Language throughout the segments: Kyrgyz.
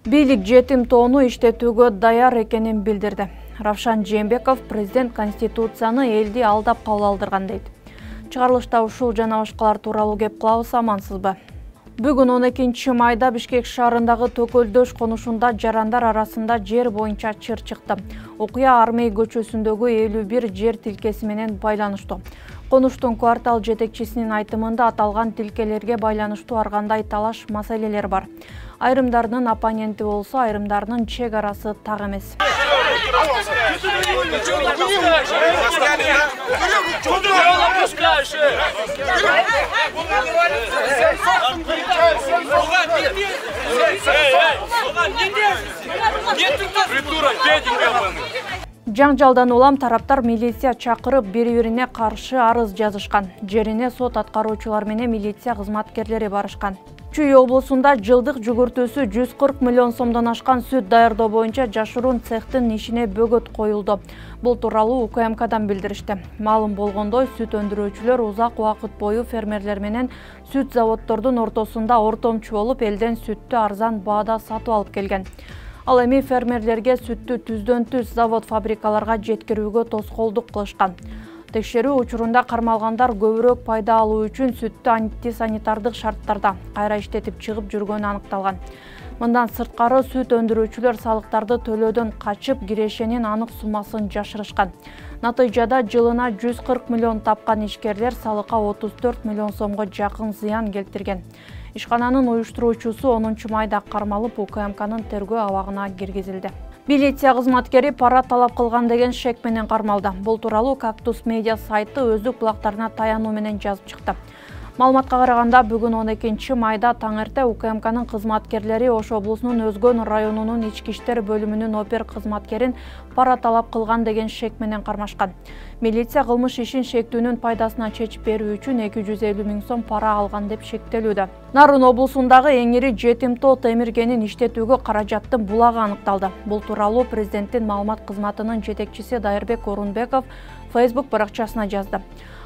Бийлик жетим тоону иштетүүгө даяр экенин билдирди. Равшан Жээнбеков президент Конституцияны элди алдап кабыл алдырган дейт. Чыгарылышта ушул жана башкалар тууралуу кеп кылабыз, амансызбы? Бүгүн 12 майда Бишкек шаарындагы Төкөлдөш конушунда жарандар арасында жер боюнча чыр чыкты. Окуя Армей көчөсүндөгү 51 жер тилкеси менен байланыштуу. Конуштун квартал жетекчисинин айтымында аталган тилкелерге байланыштуу ар кандай талаш маселелер бар. Айрымдарынын оппоненти болсо, айрымдарынын чек арасы так эмес. Жаңжалдан улам тараптар милиция чакырып бири-бирине каршы арыз жазышкан. Жерине сот аткаруучулар менен милиция кызматкерлери барышкан. Чүй облусунда жылдык жүгүртүүсү 140 миллион сомдон ашкан сүт даярдоо боюнча жашыруун цехтин ишине бөгөт коюлду. Бул тууралуу УКМКдан билдиришти. Маалым болгондой, сүт өндүрүүчүлөр узак убакыт бою фермерлер менен сүт заводдордун ортосунда ортомчу болуп, элден сүттү арзан баада сатып алып келген. Ал эми фермерлерге сүттү түздөн-түз завод-фабрикаларга жеткирүүгө тоскоолдук кылышкан. Текшерүү учурунда кармалгандар көбүрөөк пайда алуу үчүн сүттү антисанитардык шарттарда кайра иштетип чыгып жүргөнү аныкталган. Мындан сырткары сүт өндүрүүчүлөр салыктарды төлөөдөн качып, кирешенин анык суммасын жашырышкан. Натыйжада жылына 140 миллион тапкан ишкерлер салыкка 34 миллион сомго жакын зыян келтирген. Ишкананын уюштуруучусу 10 майда кармалып, УКМКнын тергөө абагына киргизилди. Милиция кызматкери пара талап кылган деген шек менен кармалды. Бул тууралуу Кактус медиа сайты өздүк булактарына таянуу менен жазып чыкты. Маалыматка караганда, бүгүн 12 майда таң эрте УКМКнын кызматкерлери Ош облусунун Өзгөн районунун ички иштер бөлүмүнүн опер кызматкерин пара талап кылган деген шек менен кармашкан. Милиция кылмыш ишин шектүүнүн пайдасына чечип берүү үчүн 250 миң сом пара алган деп шектелүүдө. Нарын облусундагы эң ири жетим тоо темир кенин иштетүүгө каражаттын булагы аныкталды. Бул тууралуу президенттин маалымат кызматынын жетекчиси Дайырбек Орунбеков Facebook баракчасына жазды.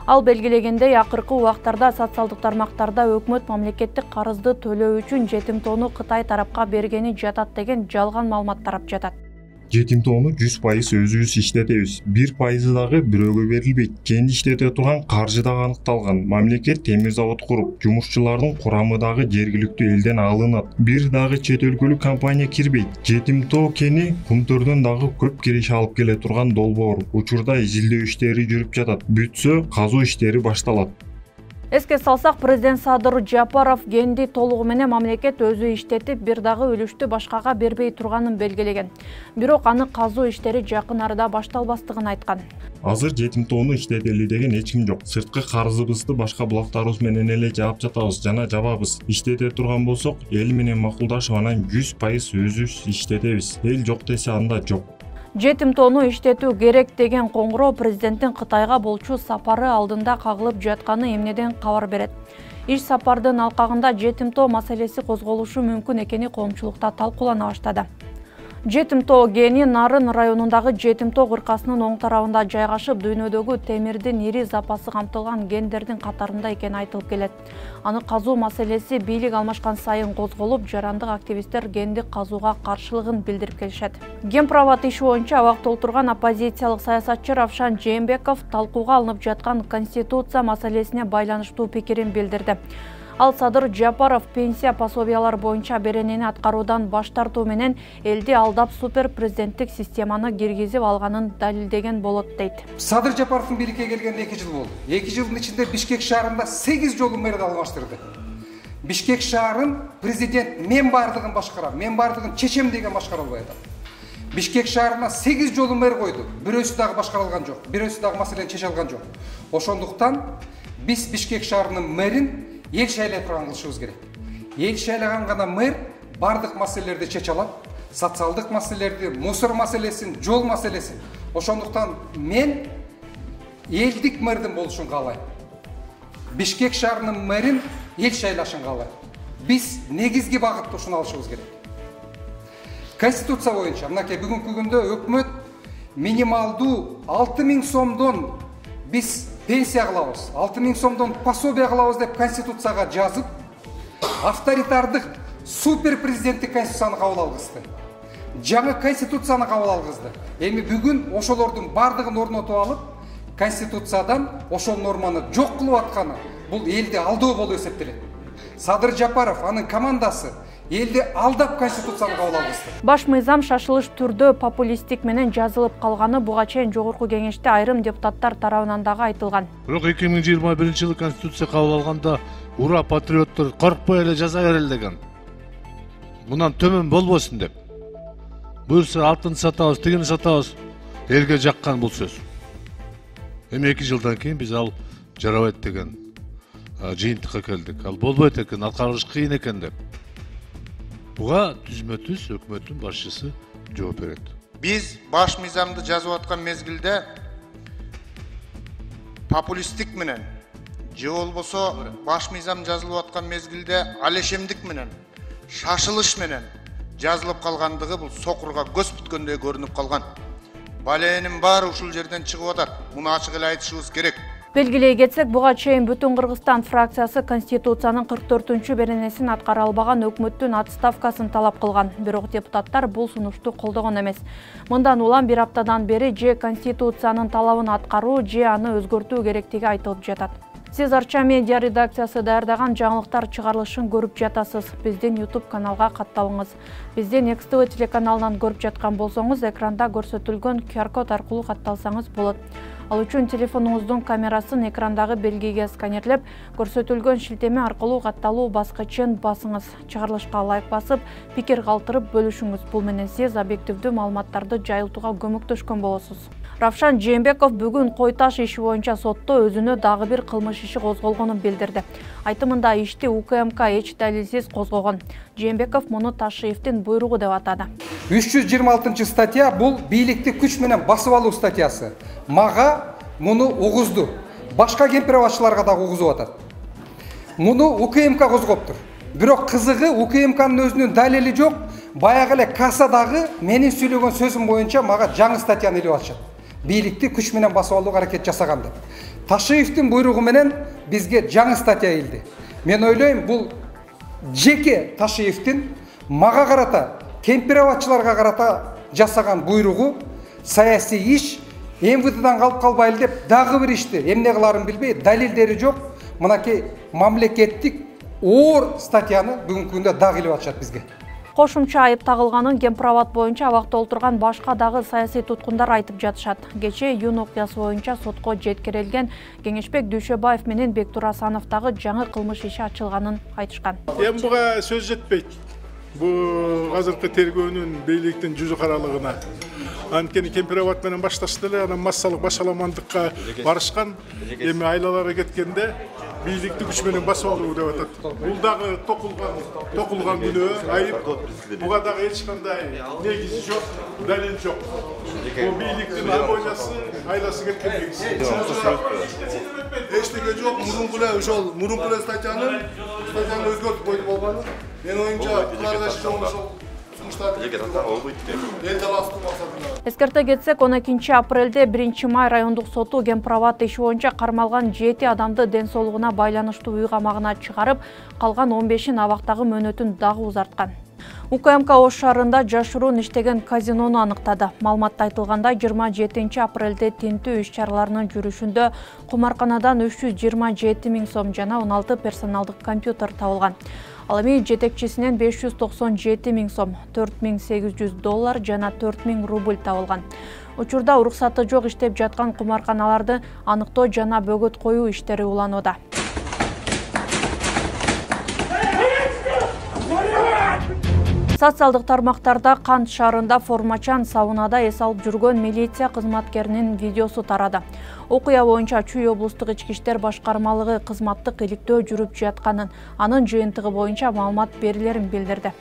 Ал белгилегендей, акыркы убактарда социалдык тармактарда өкмөт мамлекеттик карызды төлөө үчүн жетим тоону Кытай тарапка бергени жатат деген жалган маалымат тарап жатат. Жетим тоону 100% өзүбүз иштетебиз. 1% дагы бирөөгө берилбейт. Кенди иштете турган каржы дагы аныкталган. Мамлекет темир завод куруп, жумушчулардын курамы дагы жергиликтүү элден алынат. Бир дагы чет өлкөлүк компания кирбейт. Жетим тоо кени Кумтөрдөн дагы көп киреше алып келе турган долбоор. Учурда изилдөө иштери жүрүп жатат. Бүтсө, казуу иштери башталат. Эске салсак, президент Садыр Жапаров кенди толугу менен мамлекет өзү иштетип, бир дагы үлүштү башкага бербей турганын белгилеген. Бирок аны казуу иштери жакын арада башталбастыгын айткан. Азыр жетим тоону иштетели деген эч ким жок. Сырткы карызыбызды башка булактарыбыз менен эле жаап жатабыз жана жабабыз. Иштете турган болсок, эл менен макулдашып, анан 100% өзүбүз иштетебиз. Эл жок десе, анда жок. Жетим тоону иштетүү керек деген коңгуроо президенттин Кытайга болчу сапары алдында кагылып жатканы эмнеден кабар берет. Иш сапардын алкагында жетим тоо маселеси козголушу мүмкүн экени коомчулукта талкуулана баштады. Жетим тоо кени Нарын районундагы жетим тоо кыркасынын оң тарабында жайгашып, дүйнөдөгү темирдин ири запасы камтылган кендердин катарында экени айтылып келет. Аны казуу маселеси бийлик алмашкан сайын козголуп, жарандык активисттер кенди казууга каршылыгын билдирип келишет. Гемпровод иши боюнча абак толтурган оппозициялык саясатчы Равшан Жээнбеков талкууга алынып жаткан Конституция маселесине байланыштуу пикирин билдирди. Ал Садыр Жапаров пенсия пособиялар боюнча беренени аткаруудан баш тартуу менен элди алдап супер президенттик системаны киргизип алганын далилдеген болот дейт. Садыр Жапаровдун бийликке келгенине 2 жыл болду. 2 жылдын ичинде Бишкек шаарында 8 жолу мэрди алмаштырды. Бишкек шаарын президент мен бардыгын башкарам, мен бардыгын чечем деген башкара албай атат. Бишкек шаарына 8 жолу мэр койду. Бирөөсү дагы башкарылган жок. Бирөөсү дагы маселени чече алган жок. Ошондуктан биз Бишкек шаарынын мэрин ел шайлай турган кылышыбыз керек. Ел шайлаган гана мэр бардык маселелерди чече алат. Социалдык маселелерди, мусор маселесин, жол маселесин. Ошондуктан мен элдик мэрдин болушун каалайм. Бишкек шаарынын мэрин ел шайлашын каалайм. Биз негизги багытты ушуну алышыбыз керек. Конституция боюнча мынакей бүгүнкү күндө өкмөт минималдуу 6000 сомдон биз пенсия кылабыз, 6000 сомдон пособие кылабыз деп Конституцияга жазып, авторитардык супер президенттик конституцияны кабыл алгызды. Жаңы конституцияны кабыл алгызды. Эми бүгүн ошолордун бардыгын орнотуп алып, конституциядан ошол норманы жок кылып атканы бул элди алдоо болуп эсептелет. Садыр Жапаров, анын командасы элди алдап конституцияны кабыл алгызды. Баш мыйзам шашылыш түрдө популисттик менен жазылып калганы буга чейин жогорку кеңеште айрым депутаттар тарабынан дагы айтылган. Бирок 2021-жылы конституция кабыл алганда ура патриоттор коркпой эле жаза берели деген. Мындан төмөн болбосун деп. Буюрса алтын сатабыз, тигини сатабыз. Элге жаккан бул сөз. Эми 2 жылдан кийин биз ал жарабайт деген жыйынтыкка келдик. Ал болбойт экен, аткарыш кыйын экен деп. Буга түзмө-түз өкмөттүн башчысы жооп берет. Биз баш мыйзамды жазып аткан мезгилде популисттик менен же болбосо баш мыйзам жазылып аткан мезгилде алешемдик менен, шашылыш менен жазылып калгандыгы бул сокурга көз бүткөндөй көрүнүп калган. Баленин баары ушул жерден чыгып атат. Муну ачык эле айтышыбыз керек. Белгилей кетсек, буга чейин Бүтүн Кыргызстан фракциясы Конституциянын 44-чү беренесин аткара албаган өкмөттүн отставкасын талап кылган. Бирок депутаттар бул сунушту колдогон эмес. Мындан улам бир аптадан бери же Конституциянын талабын аткаруу, же аны өзгөртүү керектиги айтылып жатат. Сиз Арча медиа редакциясы даярдаган жаңылыктар чыгарылышын көрүп жатасыз. Биздин YouTube каналга катталыңыз. Биздин XTV телеканалынан көрүп жаткан болсоңуз, экранда көрсөтүлгөн QR код аркылуу катталсаңыз болот. Ал үчүн телефонуңуздун камерасын экрандагы белгиге сканерлеп, көрсөтүлгөн шилтеме аркылуу катталуу баскычын басыңыз. Чыгарылышка лайк басып, пикир калтырып бөлүшүңүз. Бул менен сиз объективдүү маалыматтарды жайылтууга көмөктөшкөн болосуз. Равшан Жээнбеков бүгүн Кой Таш иши боюнча сотто өзүнө дагы бир кылмыш иши козголгонун билдирди. Айтымында ишти УКМК эч далилсиз козгогон. Жээнбеков муну Ташиевдин буйругу деп атады. 326 статья бул бийликти күч менен басып алуу статьясы. Мага муну угузду. Башка кемпирабашчыларга дагы угузуп атат. Муну УКМК козгоптур. Бирок кызыгы УКМКнын өзүнүн далили жок. Баягы эле кассадагы менин сүйлөгөн сөзүм боюнча мага жаңы статьяны илип атышат. Бийликти күч менен басып алууга аракет жасаган деп. Ташиевдин буйругу менен бизге жаңы статья келди. Мен ойлойм, бул жеке Ташиевдин мага карата, кемпирабатчыларга карата жасаган буйругу саясий иш МВДдан калып калбайлы деп дагы бир ишти эмне кыларын билбей, далилдери жок, мынакей мамлекеттик оор статьяны бүгүнкү күндө дагы илип атышат бизге. Кошумча айып тагылганын кемпирабад боюнча абакта отурган башка дагы саясий туткундар айтып жатышат. Кечээ июнь окуясы боюнча сотко жеткирилген Кеңешбек Дүйшөбаев менен Бектур Асановдагы жаңы кылмыш иши ачылганын айтышкан. Эми буга сөз жетпейт. Бул азыркы тергөөнүн бийликтин жүзү каралыгына. Анткени кемпирабад менен башташты эле, анан массалык башаламандыкка барышкан. Эми айлалары кеткенде бийликти күч менен басып алуу деп атат. Бул дагы токулган күнөө, айып. Буга дагы эч кандай негизи жок, далил жок. Бул бийликтин обойнасы, айласы кеткен негизи. Эчтеке жок, мурунку эле ошол мурунку эле статьяны өзгөртүп койду болгону. Мен оюмча кыларгаш ошол Эскерте кетсек, 12 апрелде 1 май райондук соту кемпирабад иши боюнча кармалган 7 адамды ден соолугуна байланыштуу үй камагына чыгарып, калган 15-ин абактагы мөөнөтүн дагы узарткан. УКМК Ош шаарында жашыруун иштеген казинону аныктады. Маалыматта айтылгандай, 27 апрелде тинтүү иш-чараларынын жүрүшүндө кумарканадан 327 000 сом жана 16 персоналдык компьютер табылган. Ал эми жетекчисинен 597 000 сом, $4800 жана 4000 рубль табылган. Учурда уруксаты жок иштеп жаткан кумарканаларды аныктоо жана бөгөт коюу иштери уланууда. Социалдык тармактарда Кант шаарында формачан саунада эс алып жүргөн милиция кызматкеринин видеосу тарады. Окуя боюнча Чүй облустук ички иштер башкармалыгы кызматтык иликтөө жүрүп жатканын, анын жыйынтыгы боюнча маалымат берилерин билдирди.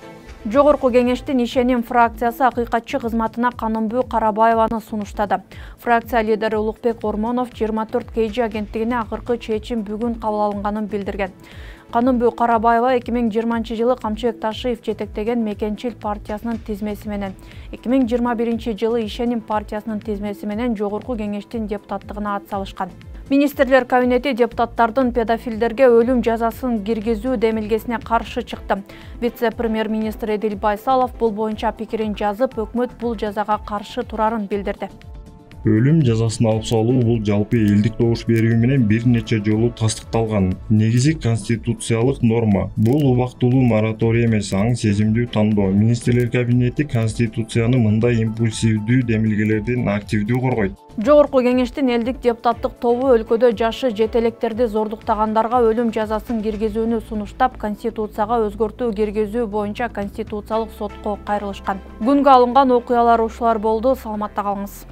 Жогорку кеңештин ишеним фракциясы акыйкатчы кызматына Канымбүү Карабаеваны сунуштады. Фракция лидери Улукбек Ормонов 24 KG агенттигине акыркы чечим бүгүн кабыл алынганын билдирген. Канымбүү Карабаева 2020-жылы Камчыбек Ташиев жетектеген Мекенчил партиясынын тизмеси менен, 2021-жылы Ишеним партиясынын тизмеси менен жогорку кеңештин депутаттыгына ат салышкан. Министрлер кабинети депутаттардын педофилдерге өлүм жазасын киргизүү демилгесине каршы чыкты. Вице-премьер-министр Эдил Байсалов бул боюнча пикирин жазып, өкмөт бул жазага каршы турарын билдирди. Өлүм жазасын алып салуу бул жалпы элдик добуш берүү менен бир нече жолу тастыкталган негизи конституциялык норма. Бул убактылуу мораторий эмес, аң сезимдүү тандоо. Министрлер кабинети конституцияны мындай импульсивдүү демилгелерден активдүү коргойт. Жогорку кеңештин элдик депутаттык тобу өлкөдө жашы жете электерди зордуктагандарга өлүм жазасын киргизүүнү сунуштап, конституцияга өзгөртүү киргизүү боюнча конституциялык сотко кайрылышкан. Күнгө алынган окуялар ушулар болду. Саламатта калыңыз.